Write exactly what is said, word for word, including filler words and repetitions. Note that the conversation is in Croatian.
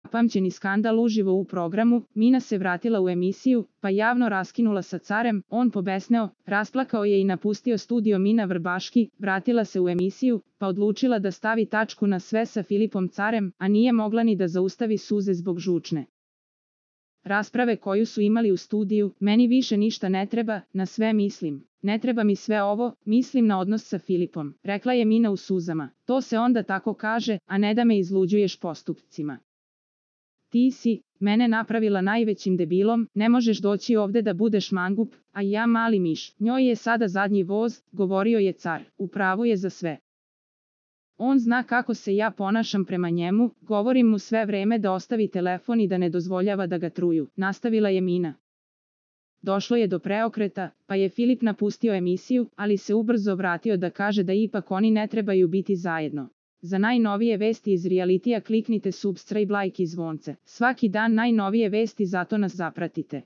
Pamćeni skandal uživo u programu, Mina se vratila u emisiju, pa javno raskinula sa carem, on pobesneo, rasplakao je i napustio studio. Mina Vrbaški vratila se u emisiju, pa odlučila da stavi tačku na sve sa Filipom Carem, a nije mogla ni da zaustavi suze zbog žučne rasprave koju su imali u studiju. Meni više ništa ne treba, na sve mislim. Ne treba mi sve ovo, mislim na odnos sa Filipom, rekla je Mina u suzama. To se onda tako kaže, a ne da me izluđuješ postupcima. Ti si mene napravila najvećim debilom, ne možeš doći ovde da budeš mangup, a ja mali miš. Njoj je sada zadnji voz, govorio je car, u pravu je za sve. On zna kako se ja ponašam prema njemu, govorim mu sve vreme da ostavi telefon i da ne dozvoljava da ga truju, nastavila je Mina. Došlo je do preokreta, pa je Filip napustio emisiju, ali se ubrzo vratio da kaže da ipak oni ne trebaju biti zajedno. Za najnovije vesti iz realitija kliknite subscribe, like i zvonce. Svaki dan najnovije vesti, zato nas zapratite.